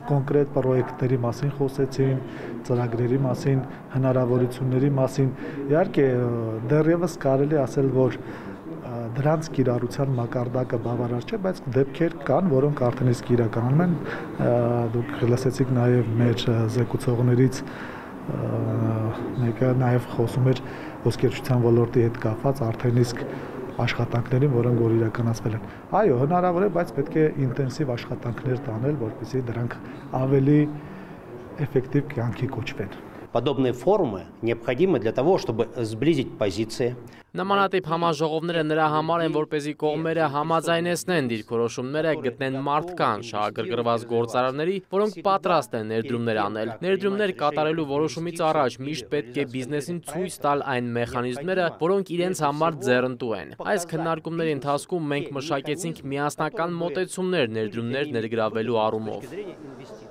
Կոնկրետ պրոյեկտների մասին խոսեցին, ծրագրերի մասին, հնարավորությունների մասին։ Իհարկե, դեռևս կարելի ասել, որ դրանց կիրառության մակարդակը բավարար չէ, բայց դեպքեր կան, որոնք արդեն իսկ իրականանում են։ Դուք լսեցիք նաև մեր զեկուցողներից մեկը նաև խոսում էր ոսկերչության ոլորտի հետ կապված արդեն իսկ աշխատանքներին, որոնք որ իրականացվել են։ Այո, հնարավոր է, բայց պետք է ինտենսիվ աշխատանքներ տանել, որպեսզի դրանք ավելի էֆեկտիվ կյանքի կոչվեն։ Подобные форумы необходимы для того, чтобы сблизить позиции. Նմանատիպ համաժողովները նրա համար են, որպեսզի կողմերը համաձայնեցնեն դիրքորոշումները, գտնեն մարդկանց շահագրգռված գործարարների, որոնք պատրաստ են ներդրումներ անել։ Ներդրումներ կատարելու որոշումից առաջ միշտ պետք է բիզնեսին ցույց տալ այն մեխանիզմները, որոնք իրենց համար ձեռնտու են։ Այս քննարկումների ընթացքում մենք մշակեցինք միասնական մոտեցումներ ներդրումներ ներգրավելու առումով։